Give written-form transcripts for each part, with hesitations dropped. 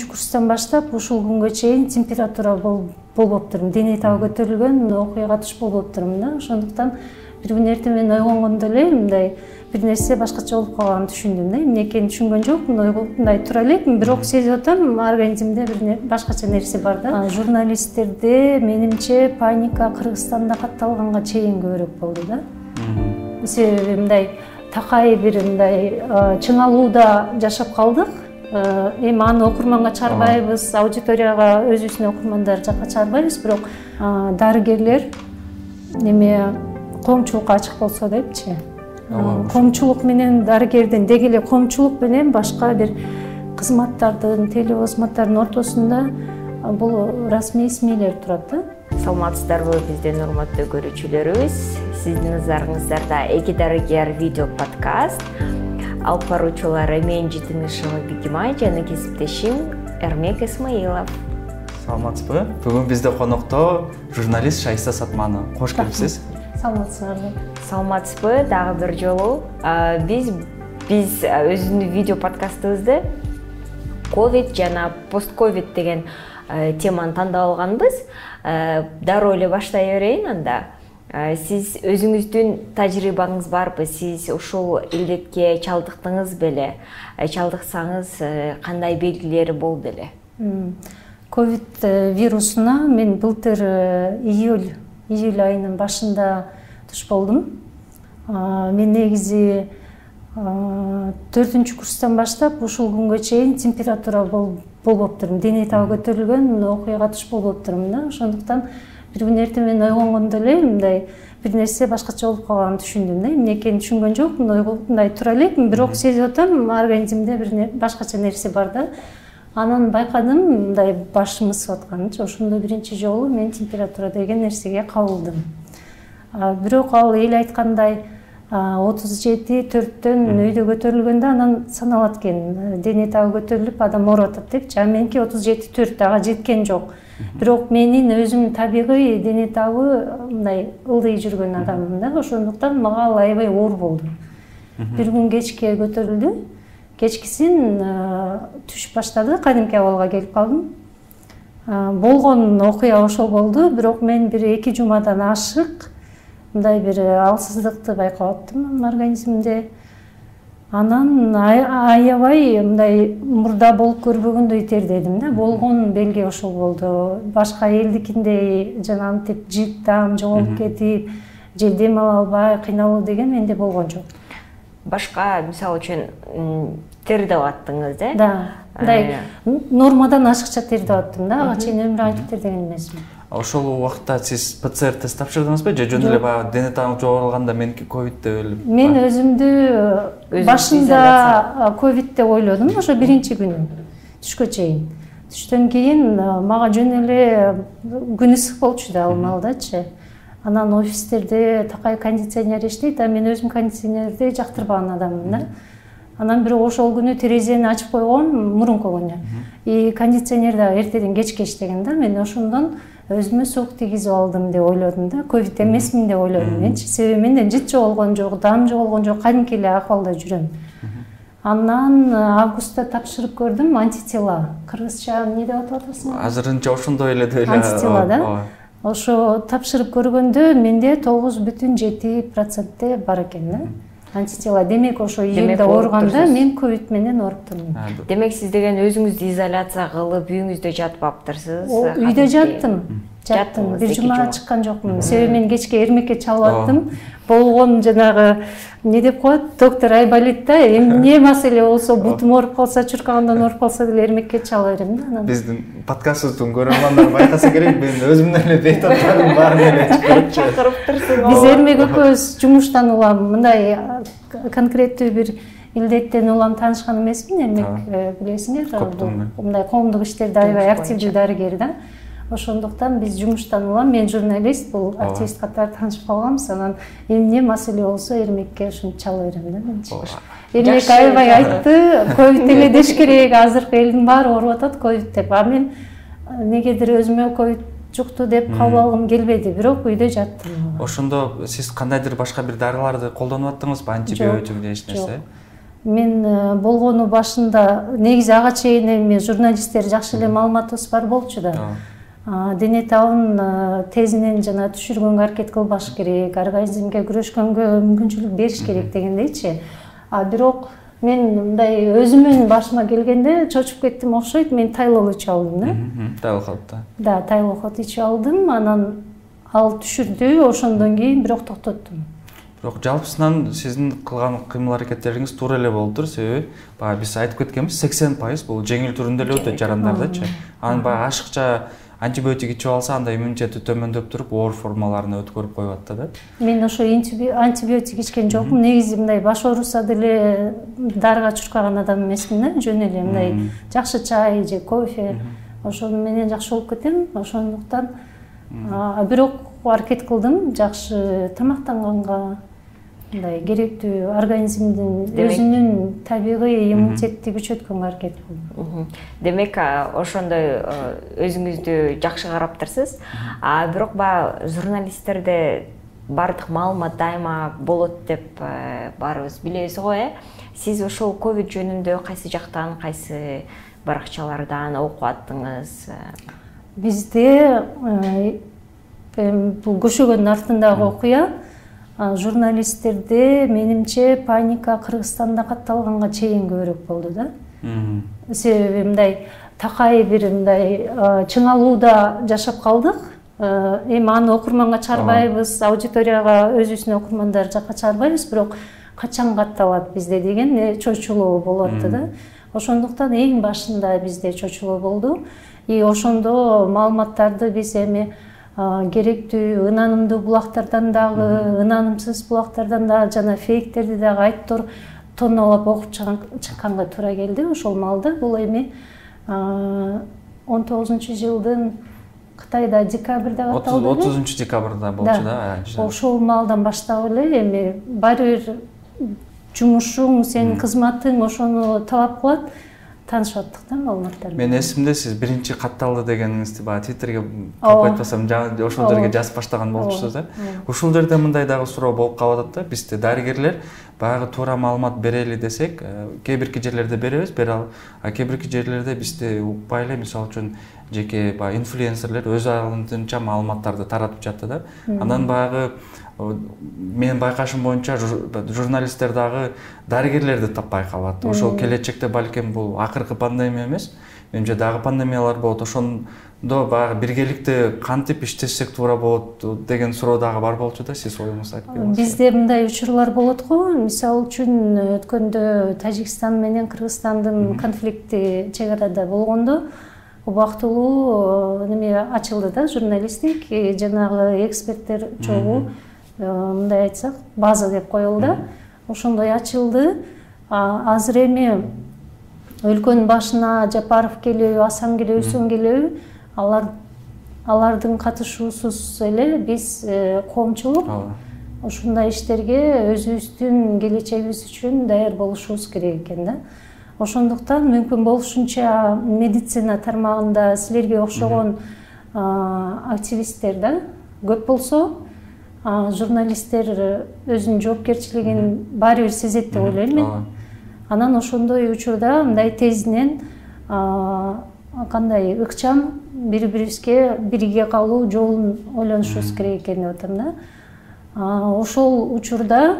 Курстан баштап ушул күнгө чейин температура болуп турмун, дене табы көтөрүлгөн, окуяга туш болуп турмун да. Ошондуктан бир күн эртең менен ойгонгондо эле мындай бир нерсе башкача болуп калганын түшүндүм да. Эмне экенин түшүнгөн жокмун, мындай тура элек, бирок сезип атам, организмде бир башкача нерсе бар да. Журналисттерде менимче паника Кыргызстанда катталганга чейин көбүрөөк болду да. Себеби мындай такай бир мындай чыңалууда жашап калдык. Эми аны окурманга чыгарбайбыз, аудиторияга өзүбүздүн окурмандар жакка чыгарбайбыз, бирок дарыгерлер эме коомчулукка ачык болсо депчи. Коомчулук менен дарыгердин деги эле коомчулук менен башка бир кызматтардын, телеозматтардын ортосунда бул расмий смейлер турат да. Саламатсыздарбы биздин урматтуу көрүүчүлөрүбүз. Сиздин назарыңыздарда Эки дарыгер видео подкаст. Алып баруучулары мен Житинишова Бигимай жана кесиптешим Эрмек Исмаилов. Саламатсызбы? Бүгүн бизде конокто журналист Шайса Сатманова. Кош келипсиз. Саламатсызбы? Саламатсызбы? Дагы бир жолу биз өзүбүздүн видео подкастыбызды ковид жана пост-ковид деген теманы тандап алганбыз. Дароо эле баштай берейин анда. Сиз өзүңүздүн тажрыйбаңыз барбы? Сиз ушул илдетке чалдыктыңыз беле? Чалдыксаңыз кандай белгилери болду эле? Ковид вирусуна мен былтыр июль айынын башында туш болдум. Мен негизи 4 курстан баштап ушул күнгө чейин температура болуп турмун, дене табы көтөрүлгөн, окуяга туш болуп турмун да. Ошондуктан бир күн эртең менен ойгонгондо эле мындай бир нерсе башкача болуп калганын түшүндүм да. Эмне экенин түшүнгөн жокмун, мындай тура элек, бирок сезип атам, организмде бир башкача нерсе бар да. Анан байкадым, мындай башым ысып атканын. Ошондо биринчи жолу мен температура деген нерсеге кабылдым. Бирок ал эл айткандай 37,4 өйдө көтөрүлгөндө анан саналат экен. Дене табы көтөрүлүп адам ооруп атат депчи. Меники 37,4 ага жеткен жок. Бирок менин өзүм табигый дене табы мындай ылдый жүргөн адаммын да. Ошондуктан мага ал аябай оор болду. Бир күн кечке көтөрүлдү. Кечкисин түш баштады, кадимки абалга келип калдым. Болгон окуя ошол болду, бирок мен бир 2 жумадан ашык мындай бир алсыздыкты байкап аттым организмимде. Анан аябай мындай мурда болуп көрбөгөндөй тердедим да. Болгон белги ошол болду. Башка элдикиндей жанагынтип жыттам, жоголуп кетип, же дем ала албай кыйналуу деген менде болгон жок. Башка мисалы үчүн тердеп аттыңыз, да? Да. Мындай нормадан ашыкча тердеп аттым да. Ага чейин өмүрүм айтып тердеген эмесмин. Ошол убакта сиз ПЦР тест тапшырдыңызбы же жөн эле баягы дене табы жогорулганда меники ковид деп эле? Мен өзүмдү башында ковид деп ойлодум, ошо биринчи күнү түшкө чейин. Түштөн кийин мага жөн эле күн ысык болчу да ал маалдачы. Анан офистерде такай кондиционер иштейт, мен өзүм кондиционерди жактырбаган адаммын да. Анан бирок ошол күнү терезени ачып койгон мурунку күнү. Кондиционер да эртеден кечке иштеген да. Мен ошондон өзүмө суук тийгизип алдым деп ойлодум да. Ковид эмесмин деп ойлодум менчи. Себеби менден жыт жоголгон жок, дам жоголгон жок, кадимки эле акыбалда жүрөм. Анан августта тапшырып көрдүм антитела. Кыргызча эмне деп атап атасың? Азырынча ошондой эле деп эле. Антитела да. Ошо тапшырып көргөндө менде 9,7% бар экен да. Антитела. Демек ошо июлда ооруганда мен ковид менен ооруп турмун. Демек сиз деген өзүңүздү изоляция кылып үйүңүздө жатып аптырсыз? Үйдө жаттым. Бир жума чыккан жокмун. Себеби мен кечке эрмекке чалып аттым. Болгон жанагы эмне деп коет? Доктор Айболит да, эмне маселе болсо, бутум ооруп калса, чуркагымдан ооруп калса деле эрмекке чала берем да. Биздин подкастыбыздын көрөрмандары байкаса керек, мен өзүмдөн эле бейтаптарым баарын эле чакырып турсуң. Биз эрмек экөөбүз жумуштан улам мындай конкреттүү бир илдеттен улам таанышкан эмесмин. Эрмек билесиңер, мындай коомдук иштерде аябай активдүү дарыгер да. Ошондуктан биз жумуштан улам, мен журналист, бул активист катары таанышып калганбыз. Анан эмне маселе болсо эрмекке ушинтип чала берем да менчи. Эрмек аябай айтты, ковид эле деш керек, азыркы элдин баары ооруп атат ковид деп. Мен негедир өзүмө ковид жукту деп кабыл алгым келбеди, бирок үйдө жаттым. Ошондо сиз кандайдыр башка бир дарыларды колдонуп аттыңызбы, антибиотик же эч нерсе? мен болгону башында негизи ага чейин эми журналисттер жакшы эле маалыматыбыз бар болчу да. Дене табын тезинен жана түшүргөнгө аракет кылбаш керек, организмге күрөшкөнгө мүмкүнчүлүк бериш керек дегендейчи. Бирок мен мындай өзүмүн башыма келгенде чочуп кеттим окшойт. Мен тайлол ичип алдым да. Тайлохот. Да, тайлохот ичип алдым. Анан ал түшүрдү, ошондон кийин бирок токтоттум. Бирок жалпысынан сиздин кылган кыймыл аракеттериңиз туура эле болуптур, себеби баягы биз айтып кеткенбиз, 80% бул жеңил түрүндө эле өтөт жарандардачы. Анан баягы ашыкча антибиотик ичип алса, анда иммунитети төмөндөп туруп, оор формаларына өткөрүп коюп атты да. Мен ошо антибиотик ичкен жокмун. Негизи мындай баш ооруса деле дарыга чуркаган адам эмесмин да, жөн эле мындай жакшы чай же кофе ошону менен жакшы болуп кетем. Ошондуктан бирок аракет кылдым жакшы тамактанганга, мындай керектүү организмдин өзүнүн табигый иммунитетти күчөткөнгө аракет кылдым. Демек, ошондой өзүңүздү жакшы караптырсыз. Бирок баягы журналисттерде бардык маалымат дайыма болот деп баарыбыз билебиз го, Сиз ошол ковид жөнүндө кайсы жактан, кайсы баракчалардан окуп аттыңыз? Бизде бул көшөгөндүн артындагы окуя журналисттерде менимче паника Кыргызстанда катталганга чейин көбүрөөк болду да. Себеби мындай такай бир мындай чыңалууда жашап калдык. Эми аны окурманга чыгарбайбыз, аудиторияга өзүбүздүн окурмандар жакка чыгарбайбыз, бирок качан катталат бизде деген чочулоо болуп атты да. Ошондуктан эң башында бизде чочулоо болду. Ошондо маалыматтарды биз эми керектүү ынанымдуу булактардан дагы, ынанымсыз булактардан дагы жана фейктерди дагы айттыр тонналап окуп чыкканга туура келди. Ошол маалда бул эми 19-жылдын Кытайда декабрда катталды. 30-декабрда болчу да. Ошол маалдан баштап эле эми баары бир жумушуң, сенин кызматың ошону талап кылат. Таанышып аттык да маалыматтар. Мен эсимде сиз биринчи катталды дегениңизди баягы Твиттерге коюп айтпасам, ошол жерге жазып баштаган болчусуз да. Ушул жерде мындай дагы суроо болуп калып атат да. Бизде дарыгерлер баягы туура маалымат берели десек, кээ бирки жерлерде беребиз, бере алып, кээ бирки жерлерде бизде укпай эле, мисалы үчүн жеке баягы инфлюенсерлер өз аралыгынча маалыматтарды таратып жатты да. Андан баягы менин байкашым боюнча журналисттер дагы дарыгерлерди таппай калат. Ошол келечекте балким бул акыркы пандемия эмес, менимче дагы пандемиялар болот. Ошондо баягы биргеликте кантип иштесек туура болот деген суроо дагы бар болчу да. Сиз оюңузду айтып бериңиз. Бизде мындай учурлар болот го. Мисалы үчүн өткөндө Тажикстан менен Кыргызстандын конфликти чек арада болгондо убактылуу неме ачылды да, журналисттик жанагы эксперттер чогуу, мындай айтсак, база деп коелду. Ошондой ачылды. Азыр эми өлкөнүн башына Жапаров келеби, Асан келеби, Үсөн келеби, алардын катышуусуз эле биз коомчулук ушундай иштерге өзүбүздүн келечегибиз үчүн даяр болушубуз керек экен да. Ошондуктан мүмкүн болушунча медицина тармагында силерге окшогон активисттер да көп болсо, журналисттер өзүнүн жоопкерчилигин баары бир сезет деп ойлойм мен. Анан ошондой учурда мындай тезинен кандай ыкчам бири-бирибизге бирге калуу жолун ойлонушубуз керек экен деп атам да. Ошол учурда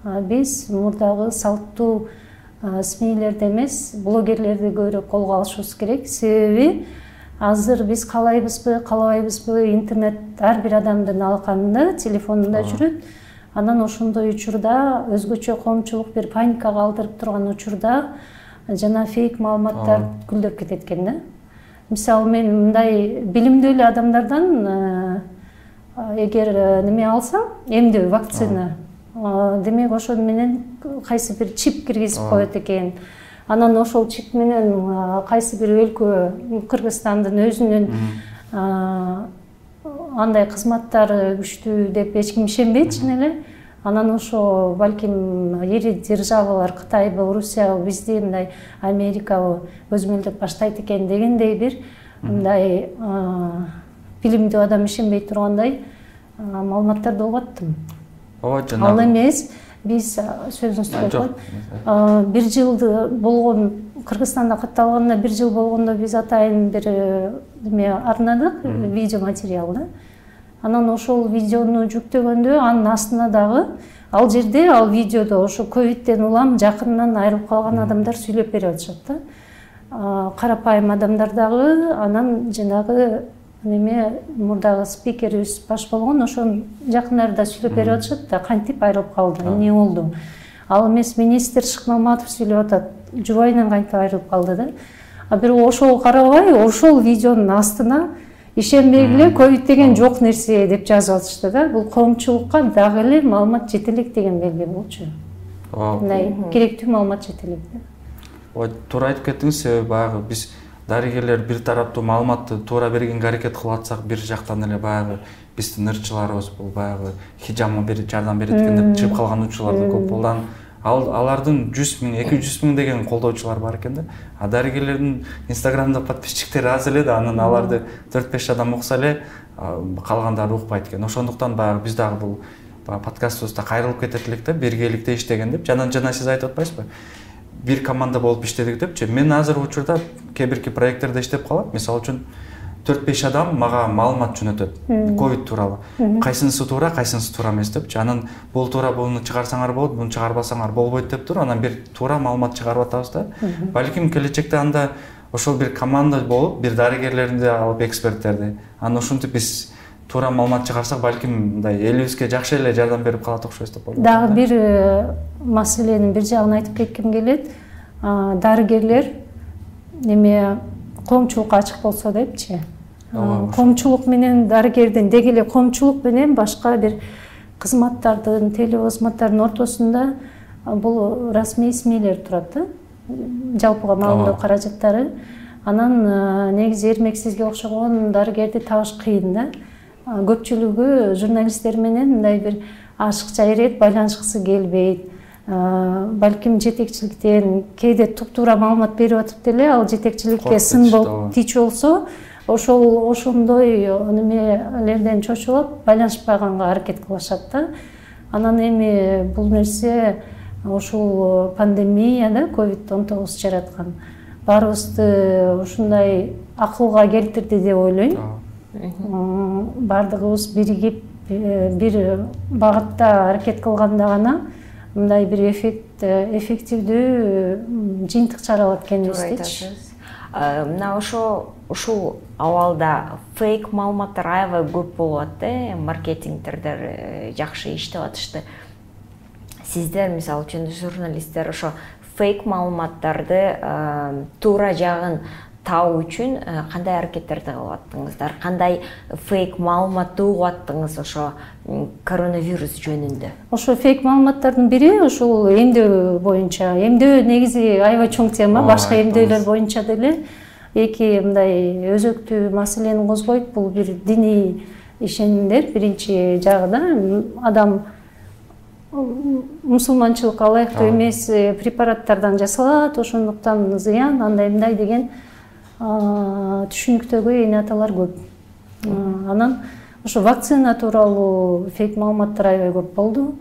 биз мурдагы салттуу СМИлерди эмес, блогерлерди көбүрөөк колго алышыбыз керек. Себеби азыр биз каалайбызбы, каалабайбызбы, интернет ар бир адамдын алаканында, телефонунда жүрөт. Анан ошондой учурда өзгөчө коомчулук бир паникага алдырып турган учурда жана фейк маалыматтар гүлдөп кетет экен да. Мисалы мен мындай билимдүү эле адамдардан эгер неме алсам, эмдөө, вакцина, демек ошон менен кайсы бир чип киргизип коет экен. Анан ошол чип менен кайсы бир өлкө, Кыргызстандын өзүнүн андай кызматтары күчтүү деп эч ким ишенбейт чын эле. Анан ошо балким ири державалар, Кытайбы, Русиябы, бизди мындай Америкабы көзмөлдөп баштайт экен дегендей бир мындай билимдүү адам ишенбей тургандай маалыматтарды угаттым. Ал эмес, биз сөзүңүздү бөлүп бир жыл болгон Кыргызстанда катталганына 1 жыл болгондо биз атайын бир эме арнадык, видео материал да. Анан ошол видеону жүктөгөндө анын астына дагы ал жерде, ал видеодо ошо ковидтен улам жакынынан айрылып калган адамдар сүйлөп берип атышат да. Карапайым адамдар дагы, анан жанагы неме мурдагы спикерибиз баш болгон ошонун жакындары да сүйлөп берип атышат да, кантип айрылып калды, эмне болду. Ал эмес министр Шыкмаматов сүйлөп атат, жубайынан кантип айрылып калды да. А бирок ошого карабай, ошол видеонун астына ишенбегиле ковид деген жок нерсе деп жазып атышты да. Бул коомчулукка дагы эле маалымат жете элек деген белги болчу. Мындай керектүү маалымат жете элек да. Ой, туура айтып кеттиңиз, себеби баягы биз дарыгерлер бир тараптуу маалыматты туура бергенге аракет кылып атсак, бир жактан эле баягы биздин ырчыларыбыз бул баягы хижама берип, жардам берет экен деп чыгып калган учурлар да көп болду. Алардын 100 000, 200 000 деген колдоочулар бар экен да. А дарыгерлердин Инстаграмда подписчиктери аз эле да, анан аларды 4-5 адам укса эле, калгандары укпайт экен. Ошондуктан баягы биз дагы бул подкастыбызда кайрылып кетет элек да, биргеликте иштеген деп. Жана сиз айтып атпайсызбы? Бир команда болуп иштедик депчи. Мен азыр учурда кээ бирки проекттерде иштеп калам. Мисалы үчүн 4-5 адам мага маалымат жөнөтөт ковид тууралуу. Кайсынысы туура, кайсынысы туура эмес депчи. Анан бул туура, буну чыгарсаңар болот, буну чыгарбасаңар болбойт деп туруп, анан бир туура маалымат чыгарып атабыз да. Балким келечекте анда ошол бир команда болуп, бир дарыгерлерди алып, эксперттерди, анан ушинтип биз туура маалымат чыгарсак, балким мындай элибизге жакшы эле жардам берип калат окшойт деп ойлойм. Дагы бир маселенин бир жагын айтып кетким келет. Дарыгерлер неме коомчулукка ачык болсо депчи. Коомчулук менен дарыгердин деги эле коомчулук менен башка бир кызматтардын, телекызматтардын ортосунда бул расмий СМИлер турат да. Жалпыга маалымдоо каражаттары. Анан негизи эрмексизге окшогон дарыгерди табыш кыйын да. Көпчүлүгү журналисттер менен мындай бир ашыкча ирет, байланышкысы келбейт. Балким жетекчиликтен кээде туп-туура маалымат берип атып деле, ал жетекчиликке сын болуп тич болсо, ошондой немелерден чочулуп байланышпаганга аракет кылышат да. Анан эми бул нерсе ушул пандемия да, COVID-19 жараткан баарыбызды ушундай акылга келтирди деп ойлойм. Бардыгыбыз биригип бир багытта аракет кылганда гана мындай бир эффективдүү жыйынтык чыгара алат экенбиздечи. Мына ушул абалда фейк маалыматтар аябай көп болуп атты, маркетингдер жакшы иштеп атышты. Сиздер мисалы үчүн журналисттер ошо фейк маалыматтарды туура жагын табуу үчүн кандай аракеттерди кылып аттыңыздар? Кандай фейк маалыматты угуп аттыңыз ошо коронавирус жөнүндө? Ошо фейк маалыматтардын бири ушул эмдөө боюнча. Эмдөө негизи аябай чоң тема, башка эмдөөлөр боюнча деле эки мындай өзөктүү маселени козгойт. Бул бир диний ишенимдер биринчи жагы да. Адам мусулманчылыкка ылайыктуу эмес препараттардан жасалат, ошондуктан зыян, андай мындай деген түшүнүктөгү эне аталар көп. Анан ошо вакцина тууралуу фейк маалыматтар аябай көп болду.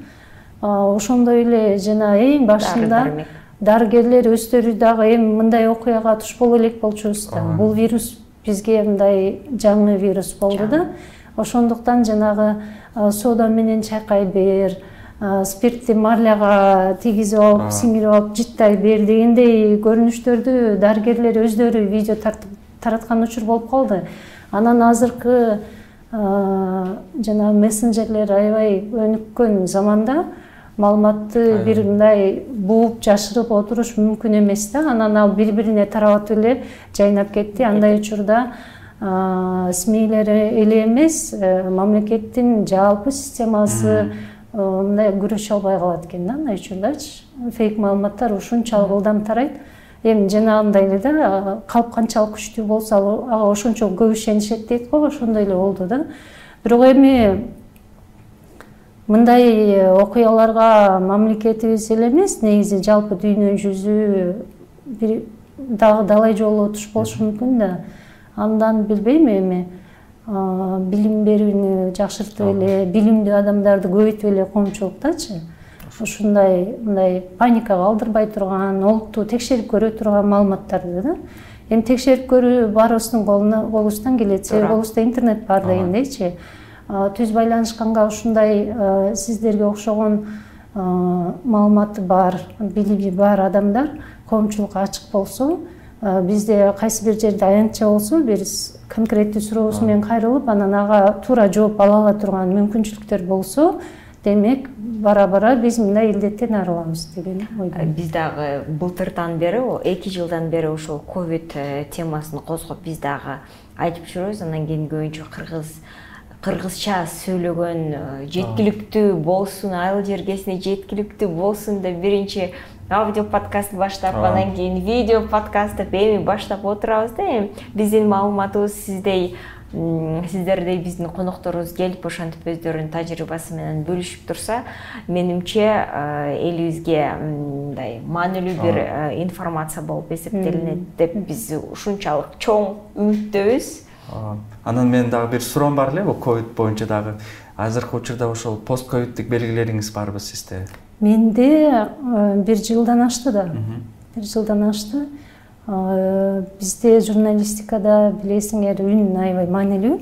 Ошондой эле жана эң башында дарыгерлер өздөрү дагы эми мындай окуяга туш боло элек болчубуз да. Бул вирус бизге мындай жаңы вирус болду да. Ошондуктан жанагы сода менен чайкай бер, спиртти марляга тийгизип алып, сиңирип алып, жыттай бер дегендей көрүнүштөрдү дарыгерлер өздөрү видео тараткан учур болуп калды. Анан азыркы жана мессенджерлер аябай өнүккөн заманда маалыматты бир мындай бууп жашырып отуруш мүмкүн эмес да. Анан ал бири-бирине тарабатып эле жайнап кетти. Андай учурда СМИлер эле эмес, мамлекеттин жалпы системасы мындай күрөшө албай калат экен да, андай учурдачы. Фейк маалыматтар ушунчалык ылдам тарайт. Эми жанагындай эле да, калп канчалык күчтүү болсо ага ошончо көп ишенишет дейт го, ошондой эле болду да. Бирок эми мындай окуяларга мамлекетибиз эле эмес, негизи жалпы дүйнө жүзү бир дагы далай жолу туш болушу мүмкүн да. Андан билбейм эми билим берүүнү жакшыртып эле, билимдүү адамдарды көбөйтүп эле коомчулуктачы. ушундай мындай паникага алдырбай турган, олутту текшерип көрө турган маалыматтарды да. Эми текшерип көрүү баарыбыздын колубуздан келет, себеби колубузда интернет бар дегендейчи. Түз байланышканга ушундай сиздерге окшогон маалыматы бар, билими бар адамдар коомчулукка ачык болсо, бизде кайсы бир жерде аянтча болсо, биз конкреттүү сурообуз менен кайрылып, анан ага туура жооп ала турган мүмкүнчүлүктөр болсо, демек бара-бара биз мындай илдеттен арылабыз деген ойдомун. Биз дагы былтырдан бери, 2 жылдан бери ошол ковид темасын козгоп биз дагы айтып жүрөбүз. Анан кийин көбүнчө кыргызча сөйлөгөн жеткиликтүү болсун, айыл жергесине жеткиликтүү болсун деп биринчи аудио подкаст баштап, анан кийин видео подкаст деп эми баштап отурабыз да. Эми биздин маалыматыбыз сиздердей биздин конокторубуз келип ошентип өздөрүнүн тажрыйбасы менен бөлүшүп турса, менимче элибизге мындай маанилүү бир информация болуп эсептелинет деп биз ушунчалык чоң үмүттөбүз. Анан менин дагы бир суроом бар эле, бул ковид боюнча дагы. Азыркы учурда ошол постковиддик белгилериңиз барбы сизде? Менде 1 жылдан ашты да. 1 жылдан ашты. Бизде журналистикада билесиңер үн аябай маанилүү.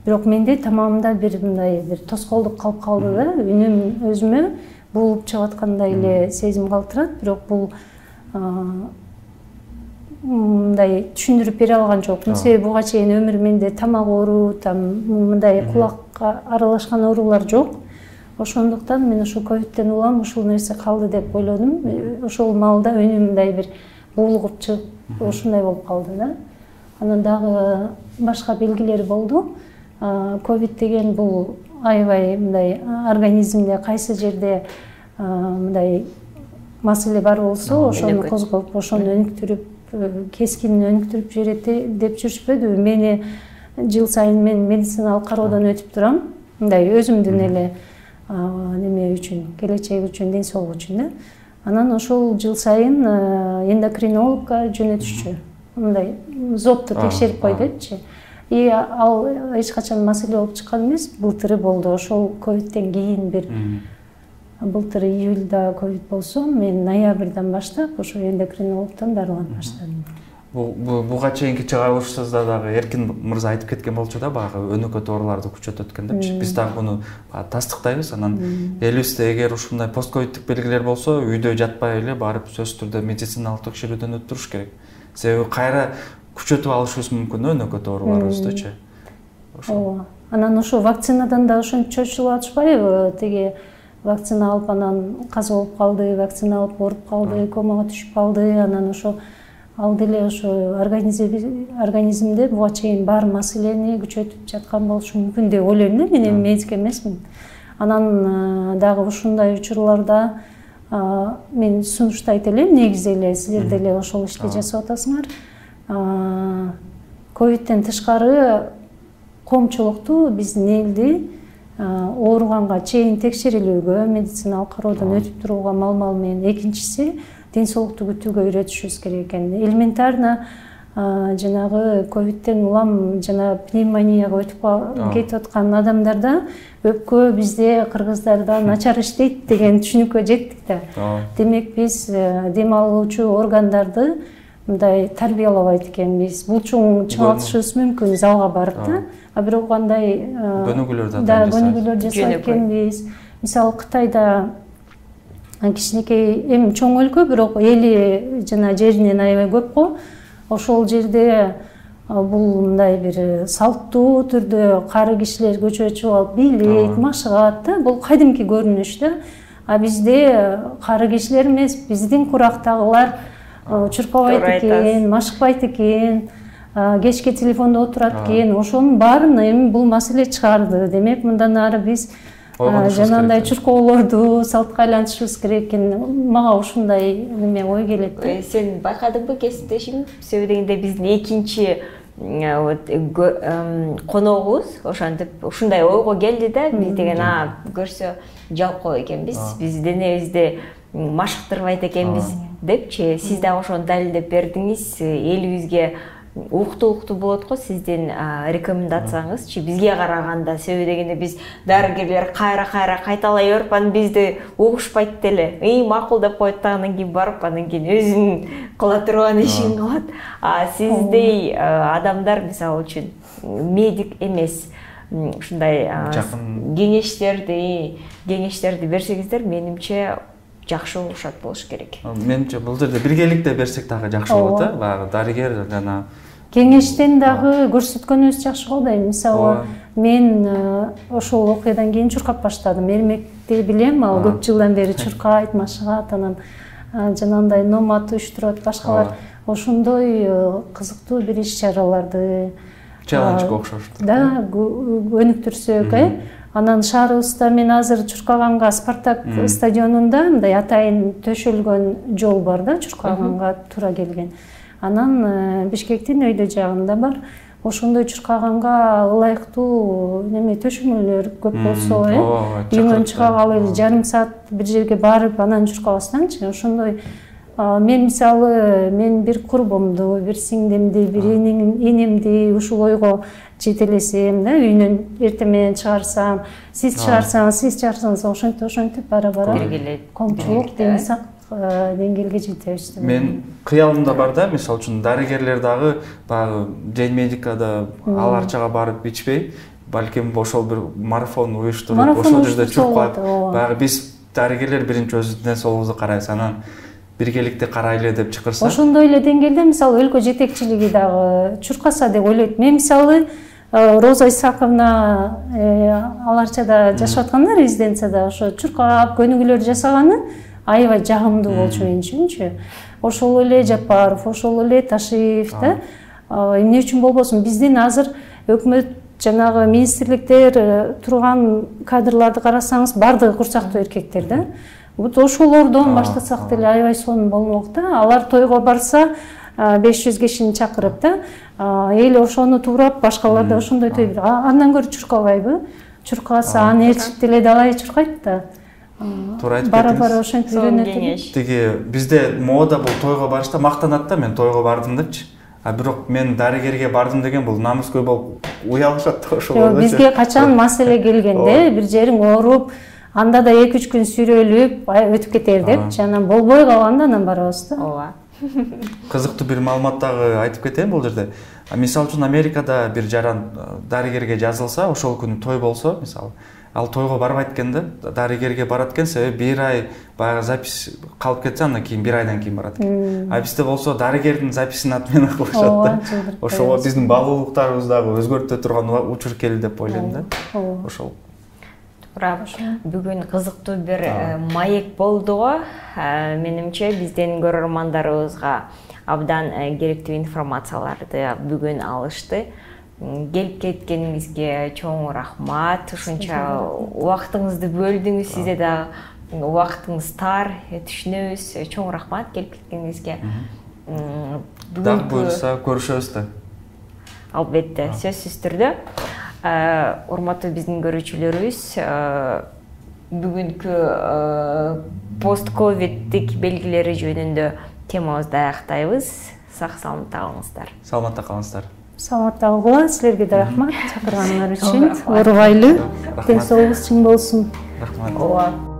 Бирок менде тамамында бир мындай бир тоскоолдук калып калды да. Үнүм өзүмө булуп чыгып аткандай эле сезим калтырат, бирок бул мындай түшүндүрүп бере алган жокмун. Себеби буга чейин өмүр менде тамак оору, мындай кулакка аралашкан оорулар жок. Ошондуктан мен ошол ковидтен улам ушул нерсе калды деп ойлодум. Ошол маалда үнүм мындай бир булугуп чыгып, ошондой болуп калды да. Анан дагы башка белгилери болду. Ковид деген бул аябай мындай организмде кайсы жерде мындай маселе бар болсо, ошону козгоп, ошону өнүктүрүп, кескин өнүктүрүп жиберет деп жүрүшпөдүбү. Мени жыл сайын мен медициналык кароодон өтүп турам. Мындай өзүмдүн эле неме үчүн, келечек үчүн, ден соолук үчүн да. Анан ошол жыл сайын эндокринологко жөнөтүшчү. Мындай зопту текшерип кой депчи. И ал эч качан маселе болуп чыккан эмес. Былтыры болду. Ошол ковидтен кийин бир былтыр июлда ковид болсо, мен ноябрдан баштап ошо эндокринологдон дарыланып баштадым. Буга чейинки чыгарылышыбызда дагы Эркин мырза айтып кеткен болчу да, багы өнөкөт ооруларды күчөтөт экен депчи. Биз дагы буну тастыктайбыз. Анан элибизде эгер ушундай постковиддик белгилер болсо, үйдө жатпай эле барып сөзсүз түрдө медициналык текшерүүдөн өттүрүш керек. Себеби кайра күчөтүп алышыбыз мүмкүн өнөкөт ооруларыбыздычы. Ооба. Анан ошо вакцинадан да ошончо чочулуп атышпайбы? Теги вакцина алып анан каза болуп калды, вакцина алып ооруп калды, комага түшүп калды. Анан ошо ал деле ошо организмде буга чейин бар маселени күчөтүп жаткан болушу мүмкүн деп ойлойм да. Мен медик эмесмин. Анан дагы ушундай учурларда мен сунуштайт элем, негизи эле силер деле ошол ишти жасап атасыңар. Ковидтен тышкары коомчулукту биздин элди ооруганга чейин текшерилүүгө, медициналык кароодон өтүп турууга мал менен, экинчиси ден соолукту күтүүгө үйрөтүшүбүз керек экен. Элементарно жанагы ковидтен улам жана пневмонияга өтүп кетип аткан адамдарда өпкө бизде кыргыздарда начар иштейт деген түшүнүккө жеттик да. Демек биз дем алуучу органдарды мындай тарбиялабайт экенбиз. Булчуң чыңалтышыбыз мүмкүн залга барып да. А бирок кандай көнүгүүлөр жасайт экенбиз. Мисалы Кытайда кичинекей эми чоң өлкө, бирок эли жана жеринен аябай көп го. Ошол жерде бул мындай бир салттуу түрдө кары кишилер көчөгө чыгып алып бийлейт, машыгат да. Бул кадимки көрүнүш да. А бизде кары кишилер эмес, биздин курактагылар чуркабайт экен, машыкпайт экен, кечке телефондо отурат экен. Ошонун баарын эми бул маселе чыгарды. Демек мындан ары биз жанагындай чуркоолорду салтка айлантышыбыз керек экен. Мага ушундай неме ой келет. Сен байкадыңбы кесиптешим? Себеби дегенде биздин экинчи коногубуз ошентип ушундай ойго келди да. Биз деген көрсө жалкоо экенбиз, биз денебизди машыктырбайт экенбиз депчи. Сиз дагы ошону далилдеп бердиңиз. Элибизге уктуу болот го сиздин рекомендацияңызчы бизге караганда, себеби дегенде биз дарыгерлер кайра кайталай берип анан бизди угушпайт деле. Макул деп коет да, анан кийин барып анан кийин өзүнүн кыла турган ишин кылат. Сиздей адамдар мисалы үчүн медик эмес ушундай кеңештерди берсеңиздер, менимче жакшы угушат болуш керек. Менимче бул жерде биргеликте берсек дагы жакшы болот да. Баягы дарыгер жана кеңештен дагы көрсөткөнүбүз жакшы го да. Мисалы, мен ошол окуядан кийин чуркап баштадым. Эрмекти билем, ал көп жылдан бери чуркайт, машыгат, анан жанагындай номад уюштурат, башкалар. Ошондой кызыктуу бир иш-чараларды челленджге окшош. Да, өнүктүрсөк, Анан шаарыбызда мен азыр чуркаганга Спартак стадионунда мындай атайын төшөлгөн жол бар да, чуркаганга туура келген. Анан Бишкектин өйдө жагында бар. Ошондой чуркаганга ылайыктуу неме төшөмөлөр көп болсо, үйүңөн чыга калып жарым саат бир жерге барып анан чуркабастанчы. Ошондой мен мисалы бир курбумду, бир сиңдимди, бир энемди ушул ойго жетелесем да, үйүнөн эртең менен чыгарсам, сиз чыгарсаңыз ошентип бара-бара коомчулук демесак деңгээлге жетебиз. Мен кыялымда бар да, мисалы үчүн дарыгерлер дагы баягы День медикада ал арчага барып ичпей, балким ошол бир марафон уюштуруп, ошол жерде чуркап, баягы биз дарыгерлер биринчи өз ден соолугубузду карайбыз, анан биргеликте карайлы деп чакырса. Ошондой эле деңгээлде мисалы өлкө жетекчилиги дагы чуркаса деп ойлойт. Мен мисалы Роза Исаковна ал арчада жашап атканда, резиденцияда ошо чуркап көнүгүүлөр жасаганы аябай жагымдуу болчу мен үчүнчү. Ошол эле Жапаров, ошол эле Ташиев да. Эмне үчүн болбосун? Биздин азыр өкмөт жанагы министрликтер турган кадрларды карасаңыз, бардыгы курчактуу эркектер да. Вот ошолордон баштасак деле аябай сонун болмок да. Алар тойго барса 500 кишини чакырып да, эл ошону туурап, башкалар да ошондой той. Андан көрө чуркабайбы? Чуркаса аны ээрчип деле далай чуркайт да. Туура айтып бара-бара ошентип үйрөнөт. Тиги бизде мода бул тойго барышта мактанат да, мен тойго бардым депчи. Бирок мен дарыгерге бардым деген бул намыскөй болуп уялышат да ошол. Бизге качан маселе келгенде, бир жериң ооруп, анда да 2-3 күн сүрөлүп өтүп кетер деп, анан болбой калганда анан барабыз да. Ооба. Кызыктуу бир маалымат дагы айтып кетейин бул жерде. Мисалы үчүн Америкада бир жаран дарыгерге жазылса, ошол күнү той болсо, мисалы, ал тойго барбайт экен да, дарыгерге барат экен, себеби бир ай баягы запись калып кетсе, андан кийин бир айдан кийин барат экен. Бизде болсо дарыгердин записин аты менен кылышат да. Ошого биздин баалуулуктарыбыз дагы өзгөртө турган учур келди деп ойлойм да. Ошол. Бүгүн кызыктуу бир маек болду го. Менимче биздин көрөрмандарыбызга абдан керектүү информацияларды бүгүн алышты. Келип кеткениңизге чоң рахмат. Ушунча убактыңызды бөлдүңүз, сизде дагы убактыңыз тар, түшүнөбүз. Чоң рахмат келип кеткениңизге. Дагы буюрса көрүшөбүз да. Албетте, сөзсүз түрдө. Урматтуу биздин көрүүчүлөрүбүз, бүгүнкү пост-ковиддик белгилери жөнүндө темабызды аяктайбыз. Сак саламатта калыңыздар. Саламатта калыңыздар. Саламатта калгыла, силерге да рахмат чакырганыңар үчүн. Оорубайлы, ден соолугуңуз чың болсун. Рахмат.